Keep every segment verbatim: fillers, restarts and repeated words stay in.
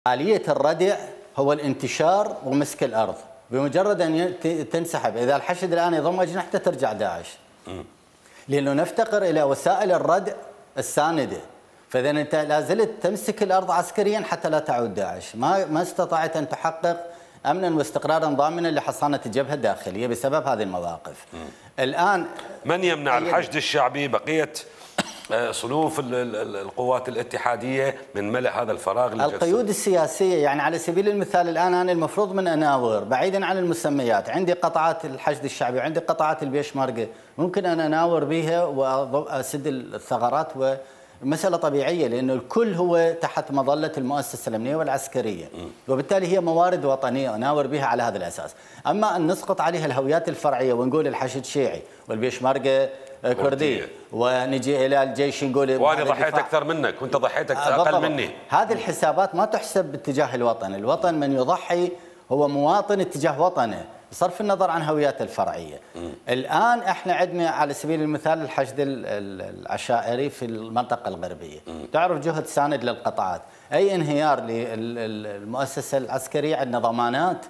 آلية الردع هو الانتشار ومسك الأرض. بمجرد أن تنسحب، إذا الحشد الآن يضم أجنحته ترجع داعش. لأنه نفتقر إلى وسائل الردع الساندة. فإذا أنت لا زلت تمسك الأرض عسكريا حتى لا تعود داعش. ما ما استطعت أن تحقق أمنا واستقرارا ضامنا لحصانة الجبهة الداخلية بسبب هذه المواقف. م. الآن من يمنع الحشد الشعبي بقية صنوف القوات الاتحادية من ملء هذا الفراغ؟ القيود السياسية. يعني على سبيل المثال الآن أنا المفروض من أناور بعيدا عن المسميات، عندي قطاعات الحشد الشعبي وعندي قطاعات البيشمركة، ممكن أن أناور بها وأسد الثغرات، ومسألة طبيعية لأنه الكل هو تحت مظلة المؤسسة الأمنية والعسكرية، وبالتالي هي موارد وطنية أناور بها على هذا الأساس. أما أن نسقط عليها الهويات الفرعية ونقول الحشد شيعي والبيشمركة كردي ونجي الى الجيش نقول وانا ضحيت اكثر منك وانت ضحيت اقل مني، هذه الحسابات ما تحسب باتجاه الوطن. الوطن من يضحي هو مواطن اتجاه وطنه بصرف النظر عن هوياته الفرعيه. م. الان احنا عندنا على سبيل المثال الحشد العشائري في المنطقه الغربيه، م. تعرف جهد ساند للقطاعات، اي انهيار للمؤسسه العسكريه عندنا ضمانات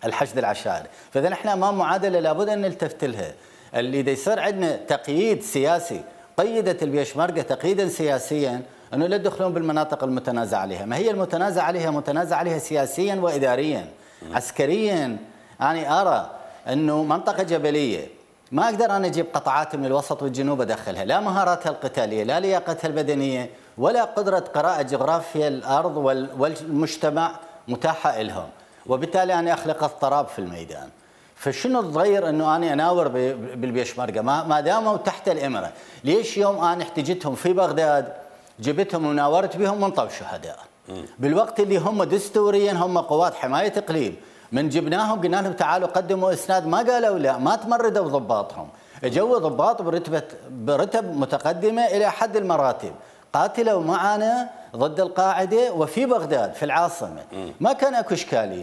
الحشد العشائري، فاذا احنا امام معادله لابد ان نلتفت لها. اللي دا يصير عندنا تقييد سياسي، قيدت البيشمركة تقييدا سياسيا انه لا يدخلون بالمناطق المتنازع عليها، ما هي المتنازع عليها؟ متنازع عليها سياسيا واداريا. م. عسكريا انا ارى انه منطقة جبلية ما اقدر انا اجيب قطاعات من الوسط والجنوب ادخلها، لا مهاراتها القتالية، لا لياقتها البدنية، ولا قدرة قراءة جغرافيا الارض والمجتمع متاحة لهم، وبالتالي انا اخلق اضطراب في الميدان. فشنو الضير انه انا اناور بالبيشمركه ما ما داموا تحت الامره؟ ليش يوم انا احتجتهم في بغداد جبتهم وناورت بهم وانطوا شهداء؟ بالوقت اللي هم دستوريا هم قوات حمايه اقليم، من جبناهم قلنا لهم تعالوا قدموا اسناد ما قالوا لا، ما تمردوا ضباطهم، اجوا ضباط برتبه برتب متقدمه الى حد المراتب، قاتلوا معنا ضد القاعده وفي بغداد في العاصمه، ما كان اكو اشكاليه.